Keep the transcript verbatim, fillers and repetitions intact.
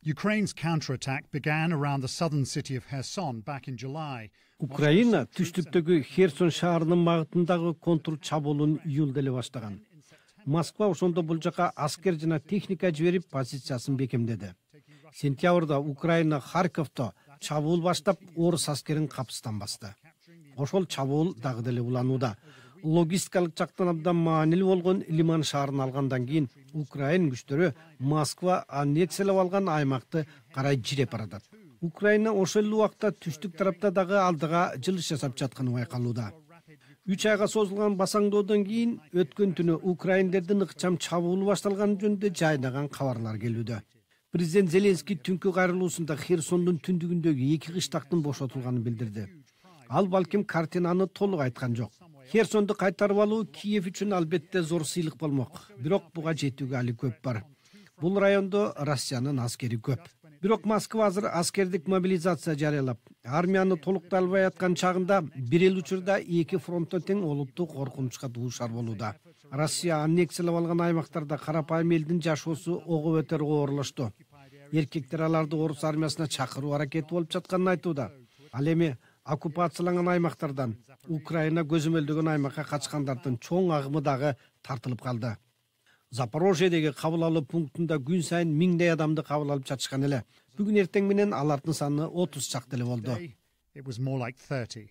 Ukraine's counterattack began around the southern city of Kherson back in July. Украина түштүктөгү Херсон шаарынын багытындагы контур чабуулун июлда эле баштаган. Москва ошондо бул жака аскер жана техника жиберип позициясын бекемдеди. Сентябрда Украина Харьковдо чабуул баштап, орус аскерин капыстан басты. Ошол чабуул дагы деле уланууда. Логистикалык жактан абдан маанилүү болгон Лиман шаарын алгандан кийин Украин күчтөрү Москва аннексиялап алган аймакты карай жиреп баратат. Украина ошол эле убакта түштүк тарапта дагы алдыга жылыш жасап жатканы байкалууда. үч айга созулган басаңдоодон кийин өткөн түнү украиндердин ыкчам чабуулу башталганы жөнүндө жайнаган кабарлар келүүдө. Президент Зеленский түнкү кайрылуусунда Херсондун түндүгүндөгү эки кыштактын бошотулганын билдирди. Ал балким картинаны толук айткан жок. Херсонду кайтарып алуу Киев үчүн албетте зор сыйлык болмок. Бирок буга жетүүгө али көп бар. Бул райондо Россиянын аскери көп. Бирок Москва азыр аскердик мобилизация жарыялап, армияны толуктай албай аткан чагында бир эл учурда эки фронтто тең олуттуу коркунучка дуушар болууда. Россия аннексиялап алган аймактарда карапайым элдин жашоосу ого бетер оорлошту. Эркектер аларды орус армиясына чакыруу аракети болуп жатканын айтууда. Ал эми оккупацияланган аймактардан Украина көзөмөлдөгөн аймакка качкандардын чоң агымы дагы тартылып калды. Запорожьедеги кабыл алуу пунктунда күн сайын миңдей адамды кабыл алып жатышкан эле. Бүгүн эртең менен алардын саны отуз чакты эле болду. It was more like thirty.